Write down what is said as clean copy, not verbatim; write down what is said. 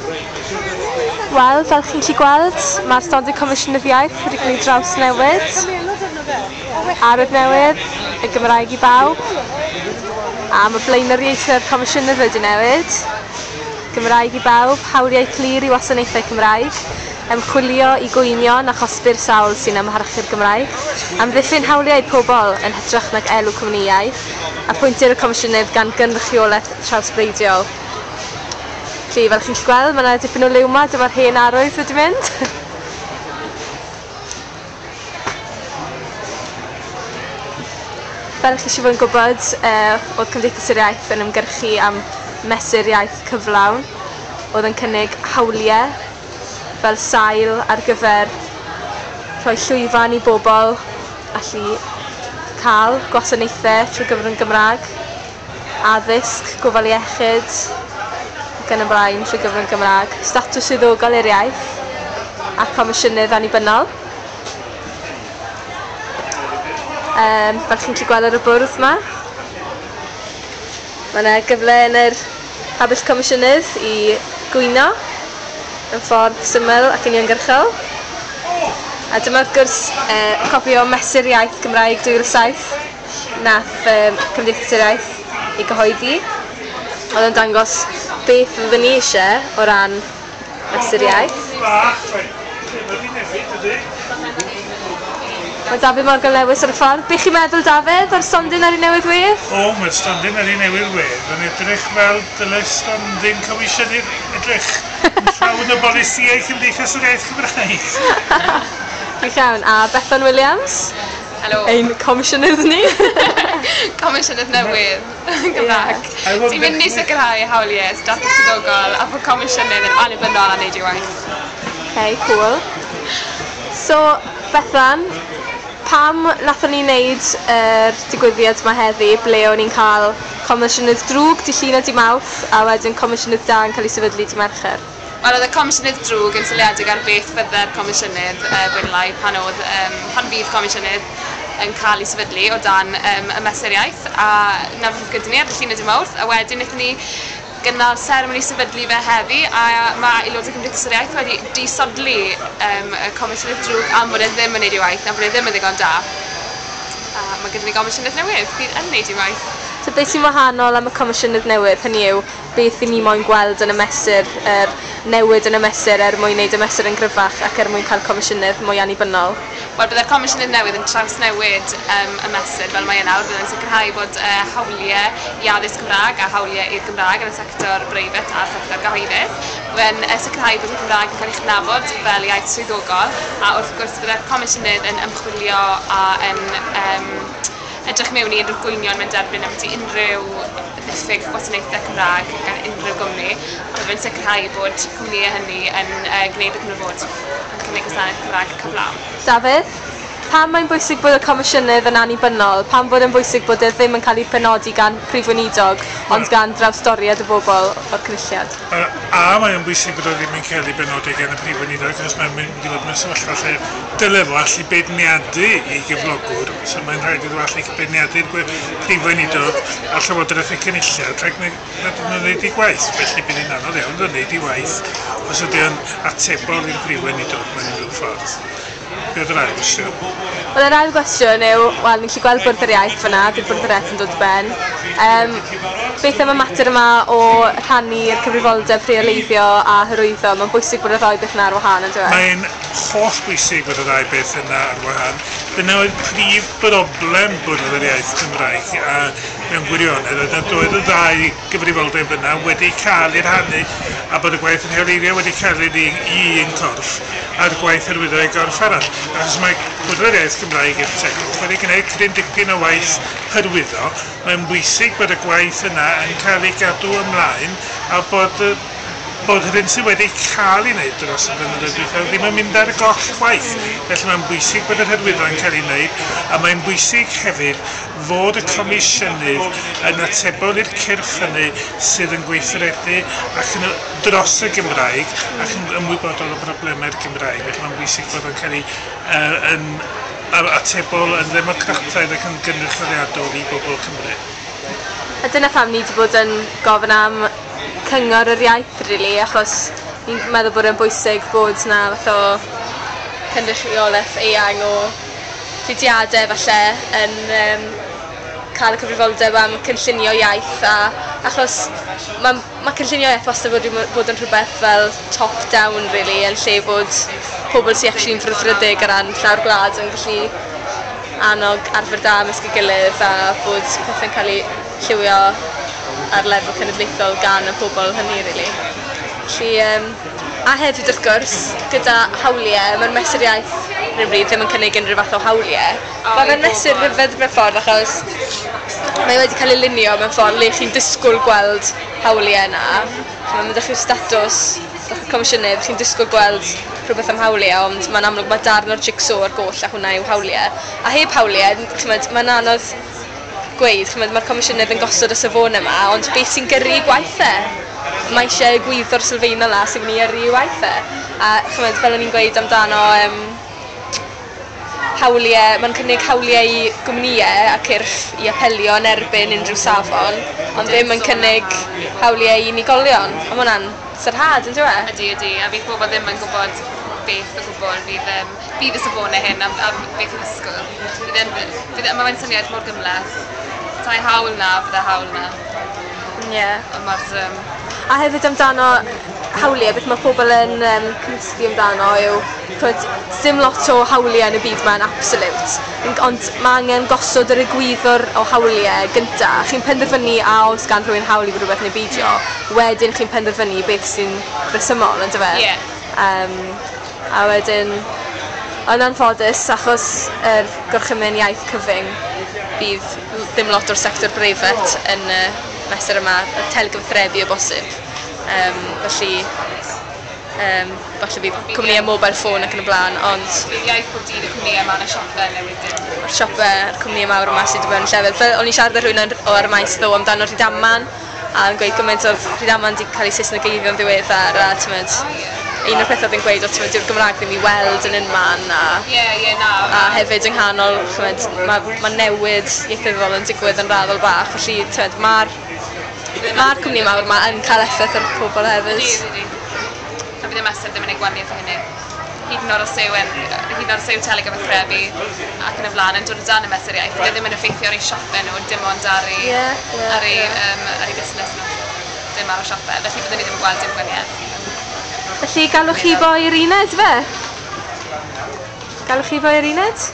Wel, fel chi'n gallu gweld, mae'r stondin Comisiynydd Iaith wedi cael ei drawsnewid. Arwydd newydd, y Gymraeg i bawb. A mae blaenoriaethau'r Comisiynydd wedi newid. Gymraeg i bawb, hawliau clir i wasanaethau Cymraeg, ymchwilio i gwynion a chosbi'r sawl sy'n amharchu'r Gymraeg, amddiffyn hawliau pobl yn hytrach nag elw cwmnïau, apwyntir y Comisiynydd gan gynrychiolaeth trawsbleidiol. Felly, fel chi'n gallu gweld, mae yna dipyn o liw 'ma, dyma'r hen arwydd wedi mynd. Fel chi eisiau fod yn gwybod, oedd Cymdeithas yr Iaith yn ymgyrchu am mesur iaith cyflawn, oedd yn cynnig hawliau fel sail ar gyfer rhoi llwyfan i bobl allu cael gwasanaethau trwy gyfrwng Gymraeg, addysg, gofal iechyd ac yn y blaen trwy gyfrwng Gymraeg, statws swyddogol i'r iaith a comisiynydd annibynnol. Fel chi'n gallu gweld ar y bwrdd yma, mae yna gyfle yn yr pabell comisiynydd i gwyno yn ffordd syml ac uniongyrchol. A dyma wrth gwrs copi o Mesur Iaith Gymraeg 2007 nath Cymdeithas yr Iaith ei gyhoeddi. Oedd yn dangos beth fyddwn ni eisiau o ran Mesur Iaith. Mae Dafydd Morgan Lewis ar y ffordd. Be chi'n meddwl, Dafydd, o'r stondin ar ei newydd wedd? O, mae'r stondin ar ei newydd wedd yn edrych fel dyle stondin comisiynydd edrych. Yn llawn o bolisïau Cymdeithas yr Iaith Gymraeg. Gwych iawn. A Bethan Williams? Helo. Ein comisiynydd ni. Comisiynydd newydd Gymraeg. Yeah. Ti'n mynd i sicrhau hawliau statws swyddogol a bod comisiynydd yn annibynnol a wneud ei waith. Okay, cool. So, Bethan, pam nathon ni wneud yr digwyddiad yma heddi, ble o'n i'n cael comisiynydd drwg dydd Llun a dydd Mawrth, a wedyn comisiynydd da yn cael ei sefydlu dydd Mercher? Wel, oedd y comisiynydd drwg yn seiliedig ar beth fydde'r comisiynydd fwy neu lai pan oedd, pan fydd comisiynydd yn cael ei sefydlu o dan y mesur iaith, a 'na beth oedd gyda ni ar dydd Llun a dydd Mawrth, a wedyn wnaethon ni gynnal seremoni sefydlu fe heddi, a mae aelodau Cymdeithas yr Iaith wedi disodli y comisiynydd drwg am bod e ddim yn wneud ei waith, am bod e ddim yn ddigon da. A mae gyda ni gomisiynydd newydd fydd yn wneud ei waith. So beth sy'n wahanol am y comisiynydd newydd, hynny yw beth i ni moyn gweld yn y mesur, yr newid yn y mesur er mwyn wneud y mesur yn gryfach ac er mwyn cael comisiynydd mwy annibynnol? Wel, byddai'r comisiynydd newydd yn trawsnewid y mesur fel mae e nawr. Byddai'n sicrhau bod hawliau i addysg Cymraeg a hawliau i'r Gymraeg yn y sector breifat a'r sector gyhoeddus. Byddai'n sicrhau bod y Gymraeg yn cael ei chydnabod fel iaith swyddogol, a wrth gwrs byddai'r comisiynydd yn ymchwilio a yn edrych mewn i unrhyw gwynion mae'n derbyn ambiti unrhyw ddiffyg gwasanaethau Cymraeg gan unrhyw gwmni, a byddai'n sicrhau bod cwmnïau hynny yn gwneud beth maen nhw fod yn cynnig gwasanaeth Cymraeg cyflawn. Dafydd, pam mae'n bwysig bod y comisiynydd yn annibynnol? Pam bod e'n bwysig bod e ddim yn cael ei penodi gan Prif Weinidog, ond gan drawstoriad y bobl o'r Cynulliad? A mae o'n bwysig bod o ddim yn cael ei benodi gan y Prif Weinidog, achos mae'n mynd i fod mewn sefyllfa lle dyle fo allu beirniadu ei gyflogwr, so mae'n rhaid iddo fo allu beirniadu'r Prif Weinidog a Llywodraeth y Cynulliad rhag nad ydyn nhw'n gwneud eu gwaith. Felly bydd hi'n anodd iawn iddo wneud ei waith os ydy o'n atebol i'r Prif Weinidog mewn unrhyw ffordd. Be oedd yr ail gwestiwn? Wel, yr ail gwestiwn yw, wel, ni'n gallu gweld Bwrdd yr Iaith fyna, bydd Bwrdd yr Iaith yn dod i ben. Beth am y mater yma o rhannu'r cyfrifoldeb rheoleiddio a hyrwyddo? Mae'n bwysig bod y ddau beth yna ar wahân, yndyw e? Mae'n holl bwysig bod y ddau beth yna ar wahân. Dyna oedd prif broblem Bwrdd yr Iaith Cymraeg, a mewn gwirionedd oedd nad oedd y ddau gyfrifoldeb yna wedi cael eu rhannu, a bod y gwaith yn rheoleiddio wedi cael ei i un corff a'r gwaith hyrwyddo i gorff arall. Achos mae Bwrdd yr Iaith Gymraeg i'r tegwch wedi gwneud cryn dipyn o waith hyrwyddo, mae'n bwysig bod y gwaith yna yn cael ei gadw ymlaen a bod yr hyn sydd wedi cael ei wneud dros y blynyddoedd dwythaf ddim yn mynd ar goll chwaith. Felly mae'n bwysig bod yr hyrwyddo yn cael ei wneud, a mae'n bwysig hefyd fod y comisiynydd yn atebol i'r cyrff hynny sydd yn gweithredu ac yn dros y Gymraeg ac yn ymwybodol o broblemau'r Gymraeg. Felly mae'n bwysig bod o'n cael ei yn atebol yn ddemocrataidd ac yn gynrychioliadol i bobl Cymru. A dyna pam ni wedi bod yn gofyn am cyngor yr iaith, really, achos Fi'n meddwl bod e'n bwysig bod 'na fath o cynrychiolaeth eang o fudiadau falle yn cael y cyfrifoldeb am cynllunio iaith, a achos ma' cynllunio iaith wastad wedi bod yn rhywbeth fel top down really, yn lle bod pobl sy'n actually'n frwdfrydig o ran llawr gwlad yn gallu annog arfer da ymysg ei gilydd a bod pethau'n cael eu llywio ar lefel cenedlaethol gan y pobl hynny really. Felly, a hefyd wrth gwrs, gyda hawliau, mae'r mesur iaith ar hyn o bryd ddim yn cynnig unrhyw fath o hawliau. Mae fe'n mesur rhyfedd mewn ffordd achos mae wedi cael ei lunio mewn ffordd le chi'n disgwyl gweld hawliau yna. Mae'n mynd â chi'r statws, â'ch comisiynydd, chi'n disgwyl gweld rhywbeth am hawliau, ond mae'n amlwg mae darn o'r jigsaw ar goll a hwnna yw hawliau. A heb hawliau, ch'mod, mae'n anodd gweud, ch'mod, mae'r comisiynydd yn gosod y safonau yma, ond beth sy'n gyrru gwaith e? Mae eisiau egwyddor sylfaenol 'na sy'n mynd i yrru waith e. A ch'mod, fel o'n i'n gweud amdano hawliau, mae'n cynnig hawliau i gwmnïau a cyrff i apelio yn erbyn unrhyw safon, ond ddim yn cynnig hawliau i unigolion. A ma' hwnna'n sarhad, yn dyw e? Ydy, ydy, a fydd pobl ddim yn gwybod beth o gwbl fydd y safonau hyn am beth i'w ddisgwyl. Mae fe'n syniad mor gymhleth. Petai hawl 'na, bydde hawl 'na. Ie. Ond mae'r A hefyd amdano hawliau, beth mae pobl yn cymysgu amdano yw, ch'mod, dim lot o hawliau yn y byd ma'n absolute, ond mae angen gosod yr egwyddor o hawliau gynta. Chi'n penderfynu a oes gan rhywun hawl i rhywbeth neu beidio, wedyn chi'n penderfynu beth sy'n resymol, on'd yfe? Ie. A wedyn, yn anffodus, achos yr gorchymyn iaith cyfyng, bydd ddim lot o'r sector breifat yn y mesur yma, y telegyfathrebu o bosib. Felly, falle bydd cwmnïau mobile phone ac yn y blaen, ond Bydd iaith pob dydd y cwmnïau yma yn y siopau newydd dim. Mae'r siopau a'r cwmnïau mawr yma sydd wedi bod yn llefydd. Fel o'n i'n siarad â rhywun ar y maes ddoe amdano Rhydaman, a yn gweud gymaint oedd Rhydaman wedi cael ei Saesnegeiddio'n ddiweddar, a t'mod, un o'r pethau oedd yn gweud oedd, t'mod, dyw'r Gymraeg ddim i weld yn unman, a Ie, ie, na. a hefyd yng nghanol, ch'mod, ma' newid ieithyddol yn digwydd yn raddol bach, felly t'mod, mae'r cwmni mawr yma yn cael effaith ar pobl hefyd. Ydy, ydy. A bydd y mesur ddim yn ei gwahaniaeth o hynny. Hyd yn oed os yw telegyfathrebu ac yn y blaen yn dod o dan y mesur iaith, bydd e ddim yn effeithio ar eu siopau nhw, dim ond ar eu, Ie, ie, ar eu, ie. Ar eu busnes nhw. Dim ar y siopau. Felly byddwn ni ddim yn gweld dim gwahaniaeth. Felly galwch chi boi i'r uned fe? Galwch chi boi i'r uned?